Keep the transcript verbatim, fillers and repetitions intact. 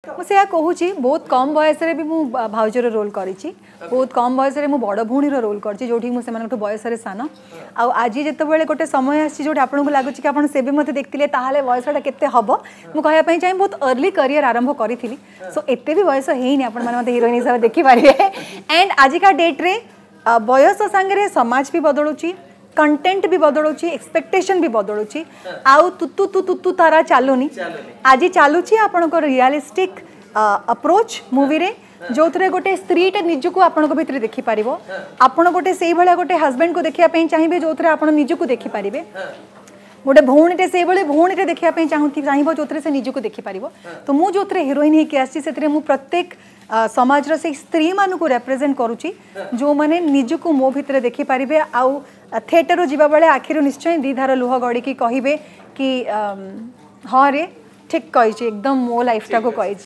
ମୁଁ ସେଇଆ କହୁଛି ବହୁତ କମ୍ ବୟସରେ ବି ମୁଁ ଭାଉଜର ରୋଲ୍ କରିଛି ବହୁତ କମ୍ ବୟସରେ ମୁଁ ବଡ଼ ଭଉଣୀର ରୋଲ୍ କରିଛି ଯେଉଁଠି ମୁଁ ସେମାନଙ୍କଠୁ ବୟସରେ ସାନ ଆଉ ଆଜି ଯେତେବେଳେ ଗୋଟେ ସମୟ ଆସିଛି ଯେଉଁଠି ଆପଣଙ୍କୁ ଲାଗୁଛି କି ଆପଣ ସେବେ ମୋତେ ଦେଖିଥିଲେ ତାହେଲେ ବୟସଟା କେତେ ହେବ ମୁଁ କହିବା ପାଇଁ ଚାହେଁ ବହୁତ ଅର୍ଲି କରିୟର ଆରମ୍ଭ କରିଥିଲି ସୋ ଏତେ ବି ବୟସ ହେଇନି ଆପଣମାନେ ମୋତେ ହିରୋଇନ୍ ହିସାବରେ ଦେଖିପାରିବେ ଆଣ୍ଡ ଆଜିକା ଡେଟ୍ରେ ବୟସ ସାଙ୍ଗରେ ସମାଜ ବି ବଦଳୁଛି କଣ୍ଟେଣ୍ଟ ବି ବଦଳୁଛି ଏକ୍ସପେକ୍ଟେସନ୍ ବି ବଦଳୁଛି ଆଉ ତୁତୁ ତୁ ତୁତୁ ତାରା ଚାଲୁନି ଆଜି ଚାଲୁଛି ଆପଣଙ୍କର ରିଆଲିଷ୍ଟିକ୍ ଆପ୍ରୋଚ୍ ମୁଭିରେ ଯେଉଁଥିରେ ଗୋଟେ ସ୍ତ୍ରୀଟା ନିଜକୁ ଆପଣଙ୍କ ଭିତରେ ଦେଖିପାରିବ ଆପଣ ଗୋଟେ ସେଇଭଳିଆ ଗୋଟେ ହଜବେଣ୍ଡକୁ ଦେଖିବା ପାଇଁ ଚାହିଁବେ ଯେଉଁଥିରେ ଆପଣ ନିଜକୁ ଦେଖିପାରିବେ ଗୋଟେ ଭଉଣୀଟେ ସେଇଭଳି ଭଉଣୀଟେ ଦେଖିବା ପାଇଁ ଚାହୁଁଥି ଚାହିଁବ ଯେଉଁଥିରେ ସେ ନିଜକୁ ଦେଖିପାରିବ ତ ମୁଁ ଯେଉଁଥିରେ ହିରୋଇନ୍ ହେଇକି ଆସିଛି ସେଥିରେ ମୁଁ ପ୍ରତ୍ୟେକ ଆ, ସମାଜର ସେଇ ସ୍ତ୍ରୀମାନଙ୍କୁ ରେପ୍ରେଜେଣ୍ଟ କରୁଛି ଯେଉଁମାନେ ନିଜକୁ ମୋ ଭିତରେ ଦେଖିପାରିବେ ଆଉ ଥିଏଟରରୁ ଯିବା ବେଳେ ଆଖିରୁ ନିଶ୍ଚୟ ଦୁଇ ଧାର ଲୁହ ଗଡ଼ିକି କହିବେ କି ଅମ୍, ହଁ ରେ ଠିକ୍ କହିଛି ଏକଦମ ମୋ ଲାଇଫଟାକୁ କହିଛି